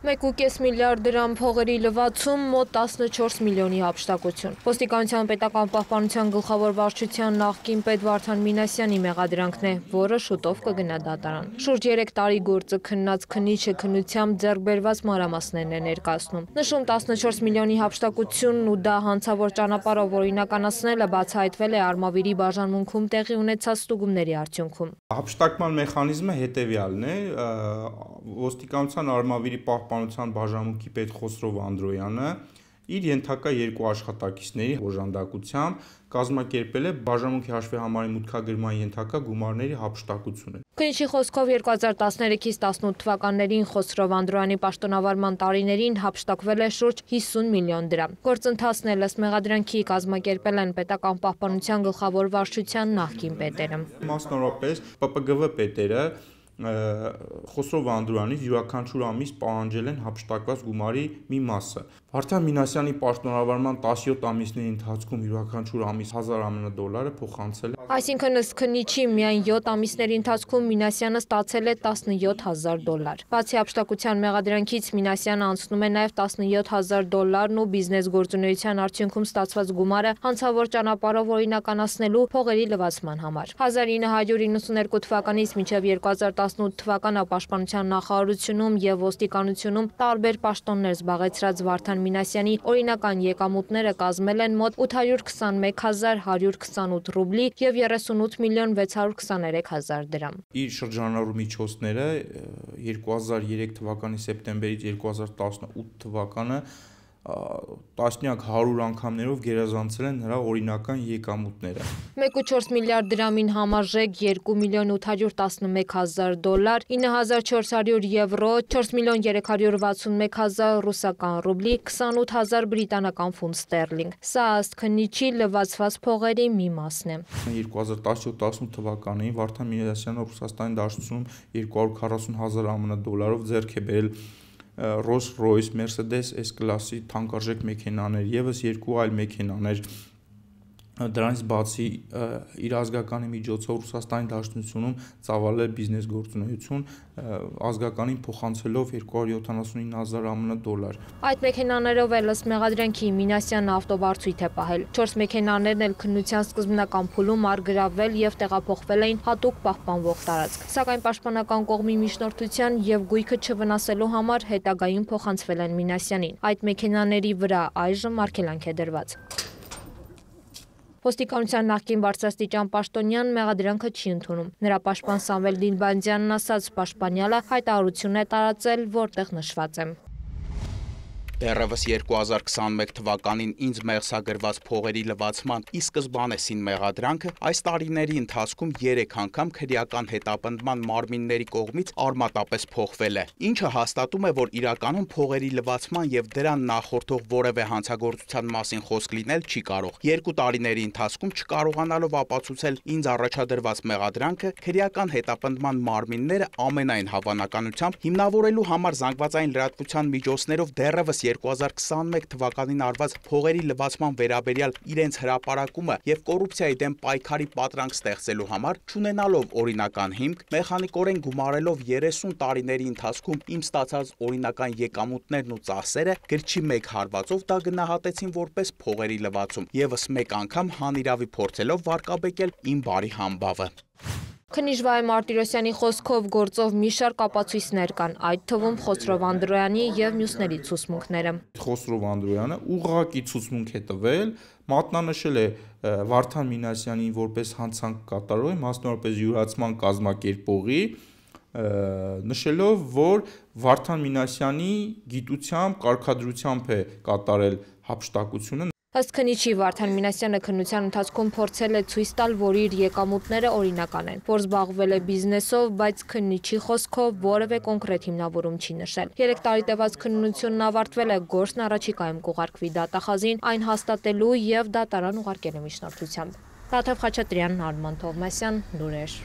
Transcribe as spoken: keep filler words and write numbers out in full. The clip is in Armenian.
մեկ ու կես միլիարդ դրամ փողերի լվացում, մոտ տասնչորս միլիոնի հափշտակություն։ Ոստիկանության պետական պահպանության գլխավոր վարչության նախկին պետ Վարդան Մինասյանի մեղադրանքն է, որը շուտով կգնա դատարան։ Շուրջ երեք տարի գործը քննած քննիչը քննությամբ ձեռք բերված մանրամասներն է ներկայացնում։ Նշում տասնչորս միլիոնի հափշտակությունն ու դա հանցավոր ճանապարհով օրինականացնելը բացահայտվել է Արմավիրի բաժանմունքում տեղի ունեցած ստուգումների արդյունքում։ Հափշտակման մեխանիզմը հետևյալն է, ոստիկանության Արմավիրի պահպանության բաժանմունքի պետ Խոսրով Անդրոյանը իր ենթակա երկու աշխատակիցների օժանդակությամբ կազմակերպել է բաժանմունքի հաշվեհամարի մուտքագրման ենթակա գումարների հափշտակությունը։ Քննիչի խոսքով երկու հազար տասներեքից տասնութ թվականներին Խոսրով Անդրոյանի պաշտոնավարման տարիներին հափշտակվել է շուրջ հիսուն միլիոն դրամ։ Գործընթացն էլ ըստ մեղադրանքի կազմակերպել են պետական պահպանության գլխավոր վարչության նախկին պետերը։ Մասնավորապես Պ Պ Գ V պետերը Խոսրով Անդրոյանից յուրաքանչյուր ամիս պահանջել են հափշտակված գումարի մի մասը։ Վարդան Մինասյանի պաշտոնավարման տասնյոթ ամիսների ընթացքում յուրաքանչյուր ամիս հազար ԱՄՆ դոլարը փոխանցել է։ Այսինքն ըստ քննիչի միայն յոթ ամիսների ընթացքում Մինասյանը ստացել է տասնյոթ հազար դոլար։ Բացի հափշտակության մեղադրանքից Մինասյանը անցնում է նաև տասնյոթ հազար դոլարն ու բիզնես գործունեության արդյունքում ստացված գումարը հանցավոր ճանապարհով օրինականացնելու փողերի լվացման համար։ հազար ինը հարյուր իննսուներկու թվականից մինչև երկու հազար տասնութ թվականը Պաշտպանության նախարարությունում եւ ոստիկանությունում տարբեր պաշտոններ զբաղեցրած Վարդան Մինասյանի օրինական եկամուտները կազմել են մոտ ութ հարյուր քսանմեկ հազար հարյուր քսանութ ռուբլի եւ երեսունութ միլիոն վեց հարյուր քսաներեք հազար դրամ։ Իր շրջանառու միջոցները երկու հազար երեք թվականի սեպտեմբերից երկու հազար տասնութ թվականը տասնյակ հարյուր անգամներով գերազանցել են նրա օրինական եկամուտները։ մեկ ու չորս միլիարդ դրամին համարժեք երկու միլիոն ութ հարյուր տասնմեկ հազար դոլար, ինը հազար չորս հարյուր եվրո, չորս միլիոն երեք հարյուր վաթսունմեկ հազար ռուսական ռուբլի, քսանութ հազար բրիտանական ֆունտ ստերլինգ։ Սա ըստ քննիչի լվացված փողերի մի մասն է։ երկու հազար տասնյոթ տասնութ թվականին Վարդան Մինասյանը Ռուսաստանի Դաշնությունում երկու հարյուր քառասուն հազար ԱՄՆ դոլարով ձեռք է բերել Rolls-Royce, Mercedes S-կլասի թանկարժեք մեքենաներ, եւս երկու այլ մեքենաներ։ Դրանից բացի իր ազգականի միջոցով Ռուսաստանի Դաշնությունում ծավալել բիզնես գործունեություն, ազգականին փոխանցելով երկու հարյուր յոթանասունինը հազար ԱՄՆ դոլար։ Այդ մեքենաներով էլ ըստ մեղադրանքի Մինասյանը ավտովարձույթ է պահել։ Չորս մեքենաներն էլ քննության սկզբնական փուլում արգրավվել եւ տեղափոխվել էին հատուկ պահպանվող տարածք։ Սակայն պաշտպանական կողմի միջնորդության եւ գույքը չվնասելու համար հետագայում փոխանցվել են Մինասյանին։ Այդ մեքենաների վրա այժմ արգելանք է դրված։ Ոստիկանության նախկին բարձրաստիճան պաշտոնյան մեղադրանքը չի ընդունում։ Նրա պաշտպան Սամվել Դինբանդյանն ասաց, պաշտպանյալը հայտարարություն է տարածել, որտեղ նշված է. Դեռևս երկու հազար քսանմեկ թվականին ինձ մեղսագրված փողերի լվացման ի սկզբանեսին մեղադրանքը այս տարիների ընթացքում երեք անգամ քրեական հետապնդման մարմինների կողմից արմատապես փոխվել է, ինչը հաստատում է, որ իրականում փողերի լվացման եւ դրան նախորդող որևէ հանցագործության մասին խոսք լինել չի կարող։ Երկու տարիների ընթացքում չկարողանալով ապացուցել ինձ առաջադրված մեղադրանքը, քրեական հետապնդման մարմինները ամենայն հավանականությամբ հիմնավորելու համար զանգվածային լրատվության միջոցներով դեռևս երկու հազար քսանմեկ թվականին արված փողերի լվացման վերաբերյալ իրենց հրապարակումը եւ կոռուպցիայի դեմ պայքարի պատրանք ստեղծելու համար չունենալով օրինական հիմք, մեխանիկորեն գումարելով երեսուն տարիների ընթացքում իմ ստացած օրինական եկամուտներն ու ծախսերը գրչի մեկ հարվածով դա գնահատեցին որպես փողերի լվացում, եւս մեկ անգամ հանիրավի փորձելով վարկաբեկել իմ բարի համբավը։ Քննիչ Վահե Մարտիրոսյանի խոսքով գործով մի շարք ապացույցներ կան, այդ թվում Խոսրով Անդրոյանի եւ մյուսների ցուցմունքները։ Խոսրով Անդրոյանը ուղղակի ցուցմունք է տվել, մատնանշել է Վարդան Մինասյանին որպես հանցանք կատարող, մասնավորապես յուրացման կազմակերպողի, նշելով, որ Վարդան Մինասյանի գիտությամբ, կարգադրությամբ է կատարել հափշտակությունը։ Ըստ քննիչի Վարդան Մինասյանը քննության ընթացքում փորձել է ցույց տալ, որ իր եկամուտները օրինական են, որ զբաղվել է բիզնեսով, բայց քննիչի խոսքով որևէ կոնկրետ հիմնավորում չի նշել։ Երեք տարի տևած քննությունն ավարտվել է, գործն առաջիկայում կուղարկվի դատախազին, այն հաստատելու եւ դատարան ուղարկելու միջնորդությամբ։ Տաթև Խաչատրյան, Արման Թովմասյան, լուրեր։